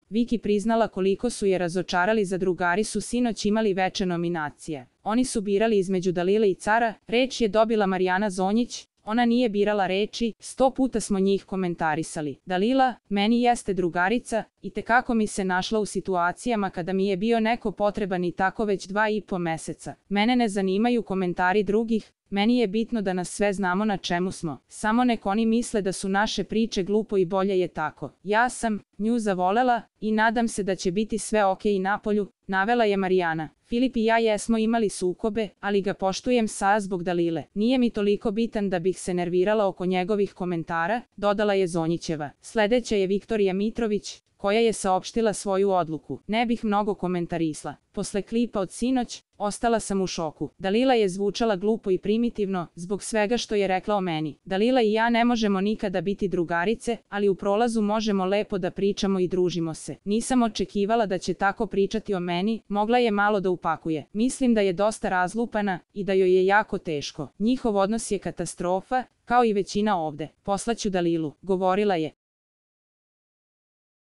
Viki priznala koliko su je razočarali, zadrugari su sinoć imali veče nominacije. Oni su birali između Dalile i Cara, reč je dobila Marijana Zonjić, ona nije birala reči, 100 puta smo njih komentarisali. Dalila, meni jeste drugarica, i tekako mi se našla u situacijama kada mi je bio neko potreban i tako već 2,5 meseca. Mene ne zanimaju komentari drugih, meni je bitno da nas sve znamo na čemu smo. Samo nek oni misle da su naše priče glupo i bolje je tako. Ja sam nju zavolela i nadam se da će biti sve okej napolju, navela je Marijana. Filip i ja jesmo imali sukobe, ali ga poštujem sad zbog Dalile. Nije mi toliko bitan da bih se nervirala oko njegovih komentara, dodala je Zonjićeva. Sledeća je Viktorija Mitrović, koja je saopštila svoju odluku. Ne bih mnogo komentarisla. Posle klipa od sinoć, ostala sam u šoku. Dalila je zvučala glupo i primitivno, zbog svega što je rekla o meni. Dalila i ja ne možemo nikada biti drugarice, ali u prolazu možemo lepo da pričamo i družimo se. Nisam očekivala da će tako pričati o meni, mogla je malo da upakuje. Mislim da je dosta razlupana i da joj je jako teško. Njihov odnos je katastrofa, kao i većina ovde. Poslaću Dalilu, govorila je.